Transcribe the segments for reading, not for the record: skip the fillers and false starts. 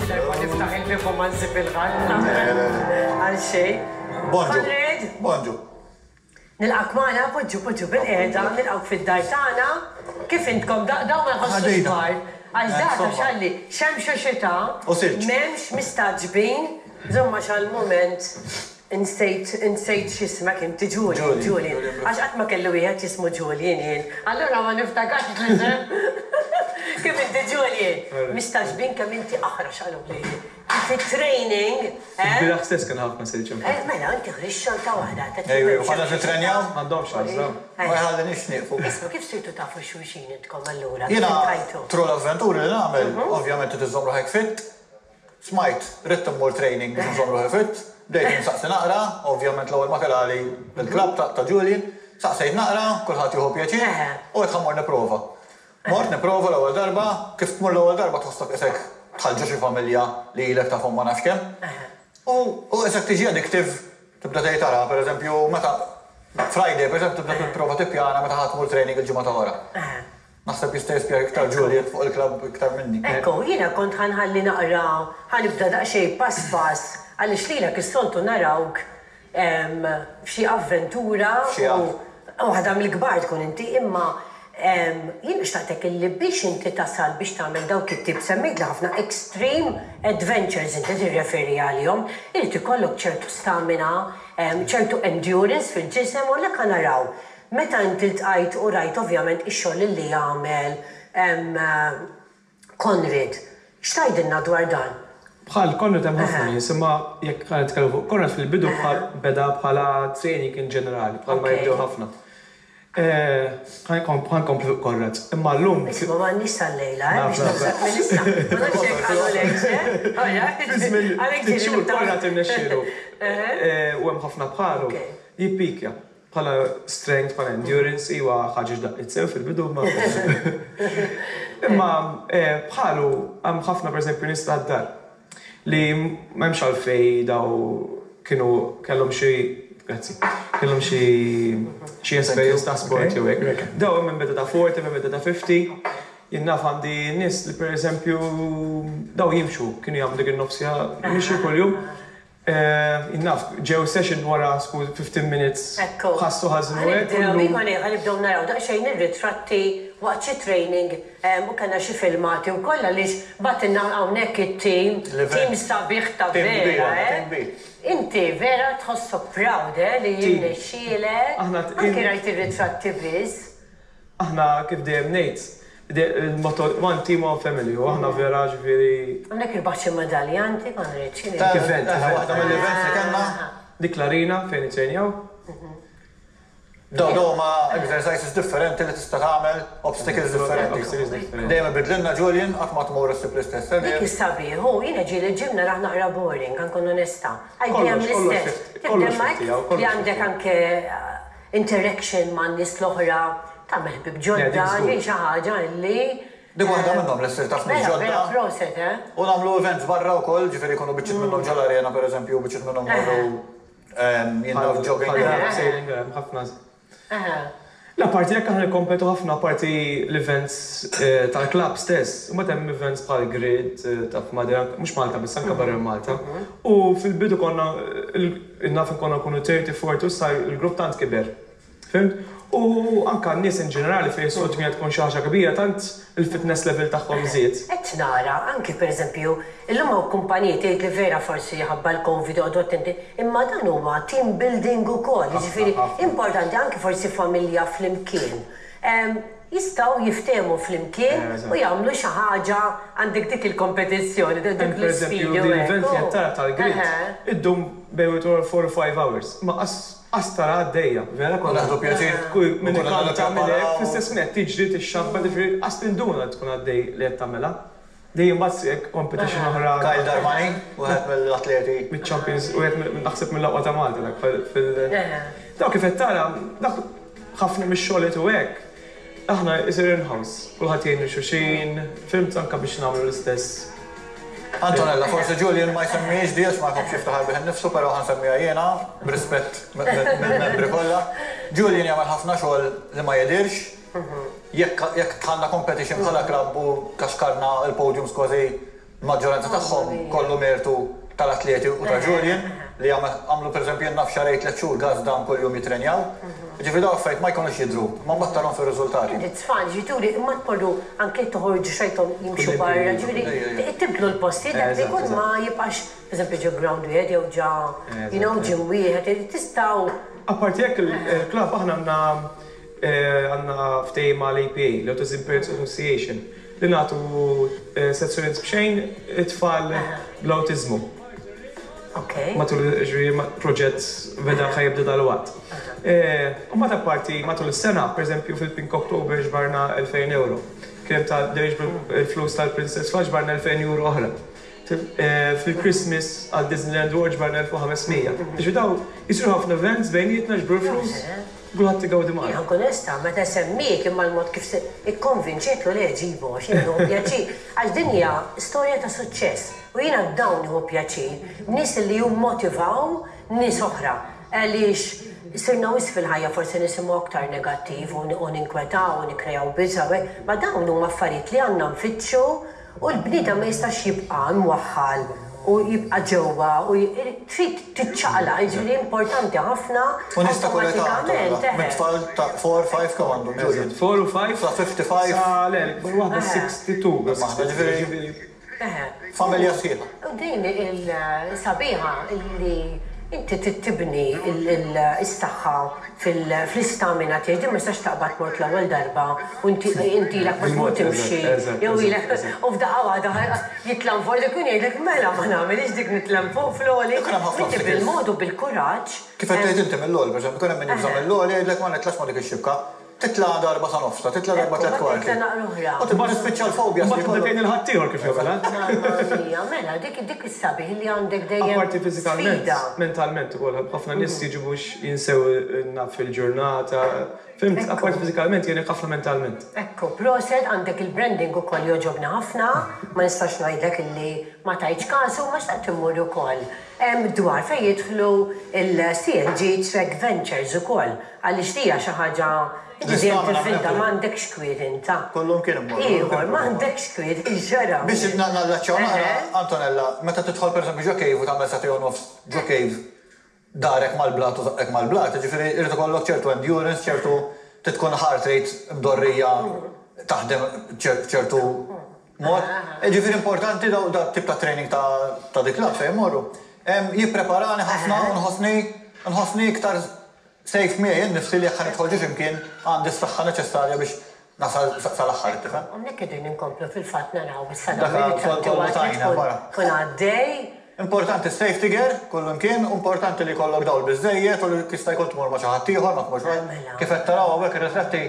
Xi darba niftaħ il-bieb u ma nsib 'il ħadd għal xejn. Bonġu. Conrad. Bonġu. Nilqgħek magħna, poġġu poġġu bilqiegħda, nilqgħuk fid-dar tagħna. Kif intkom dawn ma jħossux bard. Għax dak għax għalli xemx u xita m'hemmx mistagħġbin, żomm għax għall-mument insejt insejt x'ismek inti Julian, Julian. Għax qatt ma kelli wieħed jismu Julian jien. Allura ma niftakarx l-isem. Kif inti Julian? Mistagħġbin kemm inti aħrax qaluli. Fit-training, eh? Il-bieraħ stess kien ħafna silġ infatti. Eh, mela, inti ħriġt xorta waħda. Ejwa, konna nitrenjaw? M'għandhomx għażla. Ma jħalliniex nieqfu. Isma' kif sirtu tafu xulxin intkom allura? Kif Jiena iltqajtu? through l-avventuri li nagħmel, ovvjament trid iżżomm ruħek fit. Smajt, ridt immur training biex inżomm ruħi fit. Bdejt insaqsi naqra, ovvjament l-ewwel ma telgħali l-club ta' Julian. Saqsejt naqra, kulħadd jieħu pjaċir, u għedt ħa mmur nipprova. Mort nipprova l-ewwel darba, kif tmur l-ewwel darba tħossok qisek dħalt ġo xi familja li ilek tafhom ma nafx kemm. U u qisek tiġi addictive, tibda tgħid ara, pereżempju meta Friday pereżempju tibda tipprova tippjana meta ħa tmur training il-ġimgħa ta' wara. Naħseb jista' jispjega iktar Juliet fuq il-klabb iktar minni. Ekku, jiena kont ħa nħalli naqra, ħa nibda daqsxejn pass pass għaliex lilek is-soltu narawk f'xi avventura u waħda mill-kbar tkun inti imma jien xtaqtek illi biex inti tasal biex tagħmel dawk it-tip semmejtli ħafna extreme adventures inti tirreferi għalihom, irid ikollok ċertu stamina, ċertu endurance fil-ġisem u għalhekk ħa naraw meta inti ltqajt u rajt ovvjament ix-xogħol illi jagħmel Conrad, x'tgħidilna dwar dan? Bħal Conrad hemm ħafna nies, imma jekk ħa nitkellmu fuq Conrad fil-bidu bħal beda bħala training in ġenerali, bħal ma jibdew ħafna. Ħa nkompli fuq Conrad, imma llum. Isma' m'għandniex sal-lejla, eh, biex naħseb minn issa. Ma nafx jekk qalulekx, eh? Fi żmien ftit xhur Conrad irnexxielu, u hemm ħafna bħalu, jippikja. Bħala strength, bħala endurance, iwa ħaġa x'daqqiet sew fil-bidu imma imma bħalu hemm ħafna pereżempju nies tad-dar li m'hemmx għalfejn daw kienu kellhom xi grazzi kellhom xi xi esperjenza ta' sport jew hekk. Daw hemm min beda ta' 40, hemm min beda ta' 50. Jien naf għandi nies li pereżempju daw jimxu, kienu jagħmlu dik in-nofs siegħa mixi kuljum. Jien naf, ġew session wara skuż 15 minutes Ekku. ħassu ħażin u hekk u Ħa nibdew, llum. iva le, ħa nibdew naraw daqsxejn ir-ritratti waqt xi training u kellna xi filmati wkoll għaliex bagħtilna hawnhekk it-team, team L-event. sabiħ ta' Team kbir vera, għandna, eh. team kbir. Inti vera tħossok proud, eh, li Team. jirnexxielek, Aħna anki rajt ir-ritratti biss. Aħna kif dejjem ngħid, il-motto one team one family u aħna vera ġifieri. Hawnhekk irbaħt xi medalja inti Conrad, x'inhi? Ta' Event, eħe, event. waħda mill-events li kellna. Dik l-arena fejn nittrejnjaw. Dawn huma exercises differenti li tista' tagħmel, obstacles differenti. Obstacles differenti. Dejjem ibidlilna Julian, qatt ma tmur issib l-istess. Dik is-sabiħ, hu, jiena ġieli l-gym narah naqra boring, ħa nkun onesta. Għax dejjem Kollox, kollox l-istess. fifty, Tibda kollox hemmhekk fifty hawn, li kollox għandek fifty. anke interaction man-nies l-oħra, tagħmel ħbieb Le, dik ġodda, żgur. din xi ħaġa illi Dik waħda minnhom li ssir taf nies Vera, vera ġodda. proset, eh? U nagħmlu events barra wkoll, ġifieri jkunu biċċiet minnhom ġol-arena pereżempju, u biċċiet minnhom morru jien naf Bħal jogging. bħal sailing, hemm ħafna. Eħe. Le, apparti hekk aħna nikkompetu ħafna apparti l-events tal-klabb stess. Imbagħad hemm events bħal Grid, taf Madeira, mhux Malta biss, anke barra minn Malta. U fil-bidu konna naf konna nkunu 30, 40 u issa l-grupp tant kiber. Fhimt? U anke n-nies in ġenerali fejn is-soltu kienet tkun xi ħaġa kbira tant il-fitness level tagħhom żied. Qed nara anki pereżempju illum hawn kumpaniji tgħid li vera forsi ħabba l-Covid oqogħdu attenti, imma dan huwa team building ukoll, jiġifieri importanti anki forsi familja flimkien. Jistgħu jiftehmu flimkien u jagħmlu xi ħaġa għandek dik il-kompetizzjoni, dik Hemm pereżempju l-isfidi u din hekk. l-event li qed tara tal-grid iddum bejn wieħed u ieħor 4 u 5 hours, imma qas Qas tara għaddejja, vera konna. Nieħdu pjaċir. Kull min Konna ikanta minn hekk, nippreparaw. fl-istess ħin qed tiġri, tixxabba, jiġifieri qas tinduna li tkun għaddej li qed tagħmilha. Dejjem mbagħad hekk competition oħra. Kyle Darmani, wieħed mill-atleti. Miċ-champions, wieħed mill naħseb mill-aqwa ta' Malta dak fil. Dawk kif qed tara, dak ħafna mix-xogħol u hekk, aħna isir in-house, kulħadd jgħin lil xulxin, fhimt anke biex nagħmlu l-istess. Antonella, forsi Julian ma jsemmihiex di għax ma jħobbx jiftaħar bih innifsu, però ħa nsemmiha jiena, b'rispett mill-membri kollha. Julian jagħmel ħafna xogħol li ma jidhirx. Jekk jekk dħalna competition bħala klabb u kaxkarna l-podiums kważi. Maġġoranza tagħhom kollu mertu tal-atleti u ta' Julian li għamlu, pereżempju, jien naf xahrejn, 3 xhur gas down, kuljum jitrenjaw. Ġifieri dawn affarijiet ma jkunux jidhru, ma mbagħad tarahom fir-riżultati. It's fun, ġifieri imma tmorru anke toħorġu xajthom jimxu barra, ġifieri tibdlu l-postijiet dak li jkun ma jibqax, pereżempju, ġo ground wieħed jew ġa gym wieħed, tistgħu. Apparti hekk, il-klabb aħna għandna ftehim mal-APA, l-Autism Parents Association, li nagħtu sezzjonijiet b'xejn it-tfal bl-awtiżmu. Matul, ġifieri, proġett beda, ħa jibda dalwaqt. U mbagħad apparti matul is-sena, pereżempju fil-Pink October ġbarna 2000 euro. Kien ta' il-flus tal-Princess Flash, ġbarna 2000 euro oħra. Fil-Christmas għal Disneyland World ġbarna 1500. Ġifieri daw jisiru ħafna events bejnietna, ġbru l-flus, kulħadd igawdi magħna. Jien onesta, meta semmiek imma l-mod kif ikkonvinċetlu li ġibu, għax jien nieħu pjaċir, għax din hija storja ta' suċċess u jiena dawn nieħu pjaċir, nies li jimmotivaw nies oħra. Għaliex sirna wisq fil-ħajja forsi nisimgħu aktar negattiv u ninkwetaw u nikkrejaw biża', ma dawn huma affarijiet li għandna nfittxu u l-bniedem ma jistax jibqa' imwaħħal u jibqa' ġewwa u trid tiċċaqlaq, jiġifieri importanti ħafna. U nies ta' kull età, mit-tfal ta' 4, 5, kemm għandhom, Julian? 4 u 5. Sa 55. Sa le, l-ikbar waħda 62. Ġifieri familja sħiħa. U din il-sabiħa li inti tibni il-saħħa fl-istamina tiegħek, din ma jistax taqbad mort l-ewwel darba u inti ilek ma tmur timxi jew ilek u f'daqqa waħda jitla' fuq dik, jgħidlek mela ma nagħmilx dik, nitla' fuq fl-għoli. Inti bil-mod u bil-kuraġġ. Kif qed tgħid inti mill-għoli, pereżempju, ikun hemm min jibża' mill-għoli, jgħidlek ma nitlax ma' dik ix-xibka. Titla' darba sa nofsa, titla' darba tliet kwarti. U tibda tispiċċa l-fobja. Mbagħad tibda tgħin il-ħaddieħor kif jagħmilha. Mamma mela, dik is-sabiħ li għandek dejjem. Apparti fiżikalment, mentalment ukoll, ħafna nies jiġu biex jinsew naf fil-ġurnata. Fhimt, apparti fiżikalment jgħinek ħafna mentalment. Ekku, proset, għandek il-branding ukoll jogħġobni ħafna, ma nistax ngħidlek illi ma tajtx kasu, ma xtaqt immur ukoll. Dwar fejn jidħlu il-CNG Trek Ventures ukoll, għaliex hija xi ħaġa. Inti dejjem tivvinta, m'għandekx kwiet inta. Kullum kien immorru. Ieħor, m'għandekx kwiet, ġara. Biex nallaċċaw naqra, Antonella, meta tidħol pereżempju ġo cave u tagħmel sagħtejn u nofs ġo cave, darek mal-blat u żaqqek mal-blat, ġifieri irid ikollok ċertu endurance, ċertu tkun heart rate mdorrija taħdem ċertu mod. Ġifieri importanti daw da tip ta' training ta' dik club fejn morru. Jippreparani ħafna u nħossni iktar safe miegħi nnifsi li jekk ħa nidħol ġo x'imkien għandi s-saħħa neċessarja biex nasal sal-aħħar, tifhem? Hawnhekk qegħdin inkomplu fil-fatt naraw issa Dak kollu tajna wara. Kun għaddej. Importanti safety gear, kullu imkien, importanti li jkollok dawl biżejjed u li jista' jkun tmur ma' xi ħadd ieħor, ma tmurx Mela. Kif qed taraw hawnhekk ir-ritratti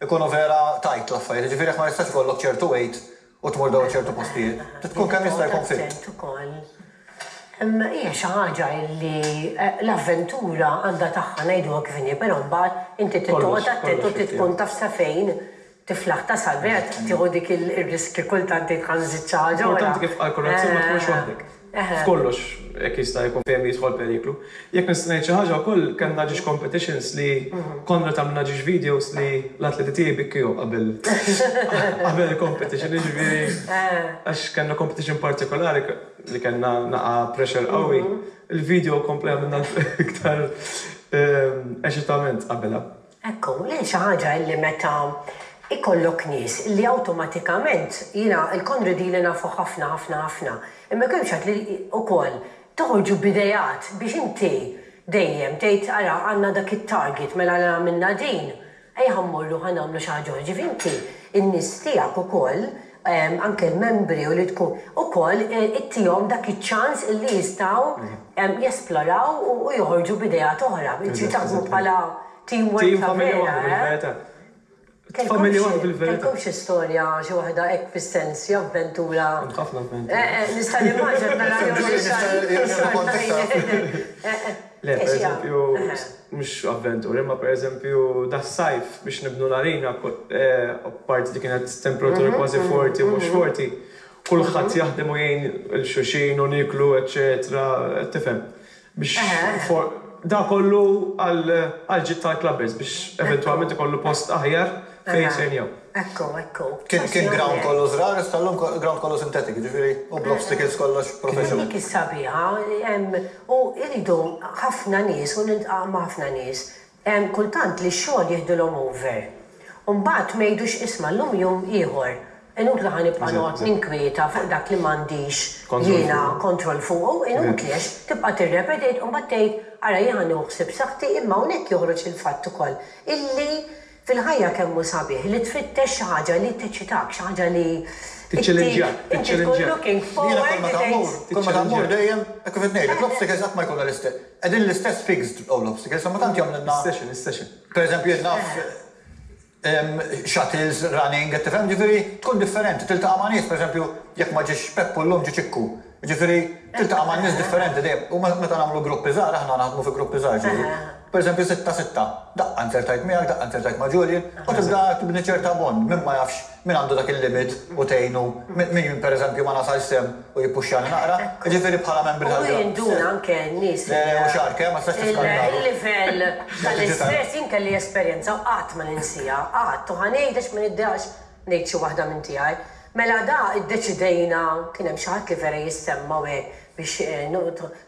ikunu vera tight l-affarijiet, ġifieri jekk ma jistax ikollok ċertu weight u tmur daw ċertu postijiet. Tkun kemm jista' jkun fit. Attent ukoll. Hija xi ħaġa li l-avventura għandha tagħha, ngħiduha kif inhi, però mbagħad inti trid toqgħod attent u trid tkun taf sa fejn tiflaħ tasal, vera tieħu dik ir-riski kultant tgħid ħa nżid xi ħaġa. Importanti kif qal Konrad, ma tkunx waħdek. F'kollox jekk jista' jkun fejn jidħol periklu. Jekk nista' ngħid xi ħaġa wkoll, kellna ġiex competitions li konna tagħmilna ġiex videos li l-atleti tiegħi bikkiju qabel il-competition, jiġifieri għax kellna competition partikolari li kellna naqa pressure qawwi. Il-video kompla għamilna iktar eċitament qabelha. Ekku, li xi ħaġa li meta ikollok nies li awtomatikament, jiena il-Konradi li nafu ħafna ħafna ħafna, imma kemm xat li ukoll toħorġu b'ideat biex inti dejjem tgħid ara għandna dak it-target, mela għamilna din, ejja ħa mmorru ħa nagħmlu xi ħaġa. Ġifieri inti in-nies tiegħek ukoll, anke l-membri u li tkun ukoll ittihom dak iċ-ċans li jistgħu jesploraw u joħorġu b'ideat oħra. Ġifieri taħdmu bħala teamwork. Team ta' familja vera, waħda eh? bil-verità. Familja waħda bil-verità. Kellkom xi storja, xi waħda hekk fis-sens, xi avventura? Ħafna avventura. Nista' nimmaġina nara Le, per eżempju, mhux avventura, imma per eżempju das-sajf biex nibnu l-arena, apparti li kienet temperatura kważi 40 u mhux 40, kulħadd jaħdem u jgħin il-xulxin u niklu, eċetera, tifhem. Biex Da kollu għall-ġid tal-clubbers biex eventwalment ikollu post aħjar fejn jittrenjaw. Ekku, ekku. Kien kien ground kollu żrar, issa llum ground kollu synthetic, jiġifieri u bl-obstacles kollox professional. Dik is-sabiħa, u jridu ħafna nies u niltaqa' ma' ħafna nies, kultant li x-xogħol jieħdulhom over. U mbagħad ma jgħidux isma' llum jum ieħor. Inutli ħa nibqa' noqgħod ninkwieta fuq dak li m'għandix jiena kontroll fuqu, inutli għax tibqa' tirrepeti u mbagħad tgħid ara jien ħa nieħu ħsieb saħħti imma hawnhekk joħroġ il-fatt ukoll illi fil-ħajja kemm hu sabiħ li tfittex xi ħaġa li teċċitak, xi ħaġa li Tiċċellenġjak, inti tkun looking Jiena kull forward meta mmur, kull meta mmur dejjem, hekk kif qed ngħidlek, l-obstacles qatt ma jkunu l-istess. Qegħdin l-istess fixed l-obstacles, imma tant jagħmlilna. Is-session, is-session. Pereżempju jien naf shuttles, running, qed tifhem? Ġifieri tkun differenti, tiltaqa' ma' nies, pereżempju, jekk ma ġiex Peppu llum ġie Ċikku. Jiġifieri tiltaqa' ma' nies differenti dejjem. U meta nagħmlu gruppi żgħar, aħna naħdmu fi gruppi żgħar ġieli. Pereżempju sitta sitta, daqqa nzertajt miegħek, daqqa nzertajt ma' Julian, u tibda tibni ċerta bond, min ma jafx min għandu dak il-limit u tgħinu, min pereżempju ma nasalx s'hemm u jippuxxjani naqra. Jiġifieri bħala membri tal-grupp. U jinduna anke n-nies. Le, le, u xagħark, eh, ma tistax tiskandalu. Il-livell tal-istress jien kelli esperjenza u qatt ma ninsiha, qatt, u ħa ngħid għax ma niddejjaqx ngħid xi waħda minn tiegħi. Mela da iddeċidejna, kien hemm xi ħadd li vera jissemma u hekk biex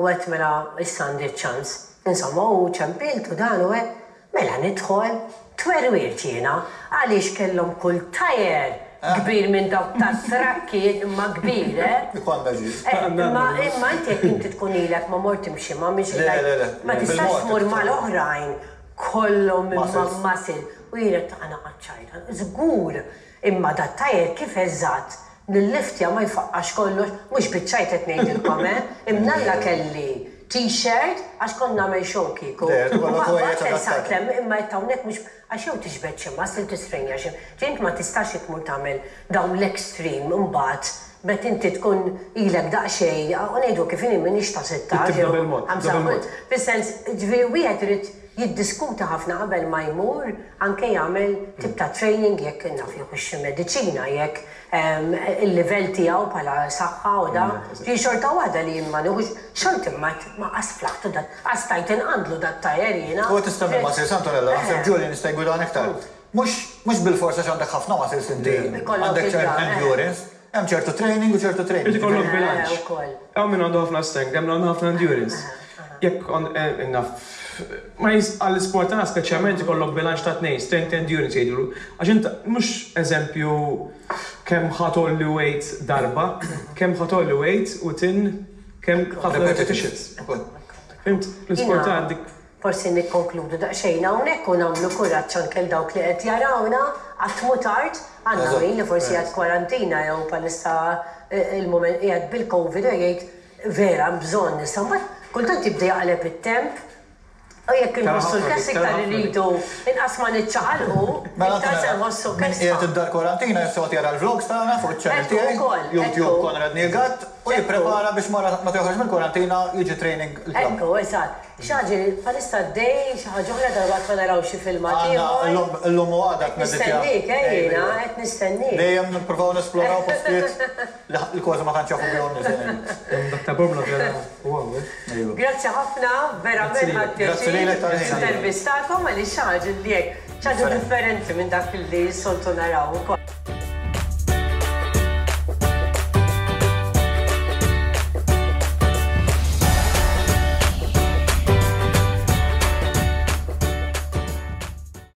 u għedt mela issa għandi ċ-ċans. Insomma u ċempilt u dan u hekk. Mela nidħol, twerwirt jiena għaliex kellhom kull tajer kbir minn dawk tat-trakki imma kbir, eh. Ikollna ġid. Imma imma inti jekk inti tkun ilek ma mort timxi ma mhix Le, le, le. Ma tistax tmur mal-oħrajn kollhom imma muscle u jien għedt ħa naqgħod ċajta. Żgur Imma dat-tajer kif eżatt nilliftja ma jfaqqax kollox, mhux biċ-ċajt qed ngħidilkom eh, imnalla kelli t-shirt għax kont nagħmel show kieku. U ma qgħadtx eżatt hemm imma għedt hawnhekk mhux għax jew tiġbed xi muscle tistrejnja xi, ġifieri int ma tistax tmur tagħmel dawn l-extreme imbagħad meta inti tkun ilek daqsxejn u ngħidu kif inhi m'iniex ta' 16 jew 25, fis-sens ġifieri wieħed irid jiddiskuti ħafna qabel ma jmur anke jagħmel tip ta' training jekk naf jieħux xi mediċina jekk il-livell tiegħu bħala saħħa u da. Ġifieri xorta waħda li jien ma nieħux xorta imma ma qas flaħtu dat qas stajt inqandlu dat-tajer jiena. U qed issemmi muscles Antonella, naħseb Julian jista' jgwidana iktar. Mhux mhux bilfors għax għandek ħafna muscles inti għandek ċertu endurance, hemm ċertu training u ċertu training. Irid ikollok bilanċ. Hawn min għandu ħafna strength, hemm min għandu ħafna endurance. Jekk naf ma għall-isport tagħna speċjalment ikollok bilanċ ta' tnejn, strength endurance jgħidulu. Għax int mhux eżempju kemm ħa tgħolli weight darba, kemm ħa tgħolli weight u tin kemm ħafna repetitions. Fhimt? L-isport tagħna dik. Forsi nikkonkludu daqsxejn hawnhekk u nagħmlu kuraġġ anke 'l dawk li qed jarawna, qatt mhu tard, għandna min li forsi qiegħed kwarantina jew bħalissa il-mument qiegħed bil-Covid u jgħid vera hemm bżonn issa mbagħad kultant jibda jaqleb it-temp u jekk inħossu l-kess iktar irridu inqas ma niċċaqalqu iktar se nħossu Min kesħa. qiegħed id-dar kwarantina jista' joqgħod jara l-vlogs tagħna fuq iċ-channel tiegħi, YouTube Konrad Neil Gatt, u jipprepara biex mara meta joħroġ mill-kwarantina jiġi training il-klabb. Ekku, eżatt. Xi ħaġa li bħalissa għaddej, xi ħaġa oħra dalwaqt ma naraw xi filmat Għandna ieħor. llum illum u għada qed neditja. Qed nistenniek, eh jiena, qed nistenniek. Dejjem nippruvaw nesploraw postijiet li li kważi ma tantx jafu bihom nies anyway. Dak ta' Bormla vera wow, eh. Ejwa. Grazzi ħafna, verament ħadt Grazzi lilek pjaċir tal-ħin. nintervistakom għaliex xi ħaġa li hekk, xi ħaġa differenti minn dak li s-soltu naraw ukoll.